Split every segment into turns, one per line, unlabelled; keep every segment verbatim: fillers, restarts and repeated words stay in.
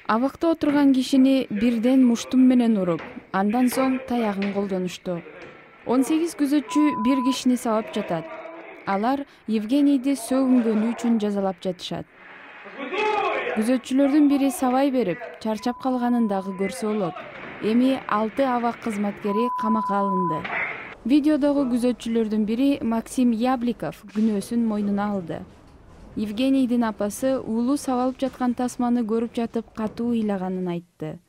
Абакта отурган кишини бирден муштум менен уруп, андан соң таягын колдонушту. он сегиз күзөтчү бир кишини сабап жатат. Алар Евгенийди сөгүнгөнү үчүн жазалап жатышат. Күзөтчүлөрдүн бири сабай берип, чарчап калганын дагы көрсө болот. Эми алты абак кызматкери камакка алынды. Видеодогу күзөтчүлөрдүн бири Максим Ябликов күнөөсүн мойнуна алды. Евгенийдин апасы уулу сабалып жаткан тасманы көрүп жатып катуу ыйлаганын айтты.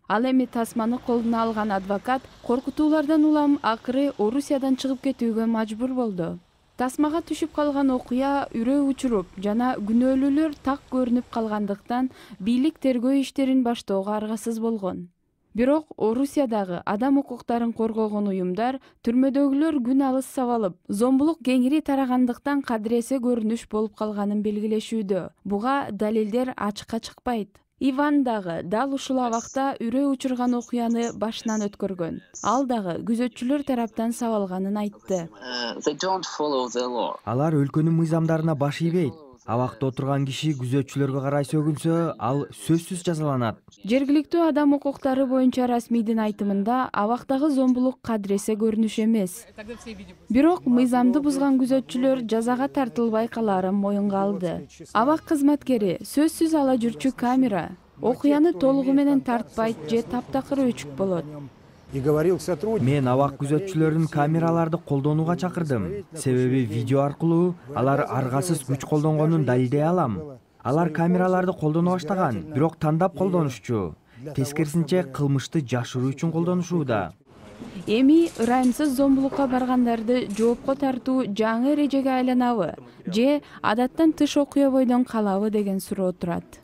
Ал эми тасманы колуна алган адвокат коркутуулардан улам акыры Орусиядан чыгып кетүүгө мажбур болду. Тасмага түшүп калган окуя үрөө учуруп жана күнөөлүүлөр так көрүнүп калгандыктан бийлик тергөө иштерин баштоого аргасыз болгон. Бирок Орусиядагы адам укуктарын коргогон уюмдар түрмөдөгүлөр күн алыс сабалып, зомбулук кеңири тарагандыктан кадыресе көрүнүш болуп калганын белгилешүүдө. Буга далилдер ачыкка чыкпайт. Иван дагы дал ушул абакта үрөө учурган окуяны башынан өткөргөн. Ал дагы күзөтчүлөр тараптан сабалганын айтты.
Алар өлкөнүн мыйзамдарына баш ийбейт. Абакта отурган киши күзөтчүлөргө карай сөгүнсө, ал сөзсүз жазаланат.
Жергиликтүү адам укуктары боюнча расмийдин айтымында абактагы зомбулук кадыресе көрүнүш эмес. Бирок мыйзамды бузган күзөтчүлөр жазага тартылбай калаарын моюнга алды. Абак кызматкери сөзсүз ала жүрчү камера окуяны толугу менен тартпайт же таптакыр өчүк болот.
Мен абак күзөтчүлөрүн камераларды колдонууга чакырдым. Себеби видео аркылуу алар аргасыз күч колдонгонун далилдей алам. Алар камераларды колдоно баштаган, бирок тандап колдонушчу. Тескерисинче кылмышты жашыруу үчүн колдонушууда.
Эми ырайымсыз зомбулукка баргандарды жоопко тартуу жаңы эрежеге айланабы же адаттан тыш окуя бойдон калабы деген суроо турат.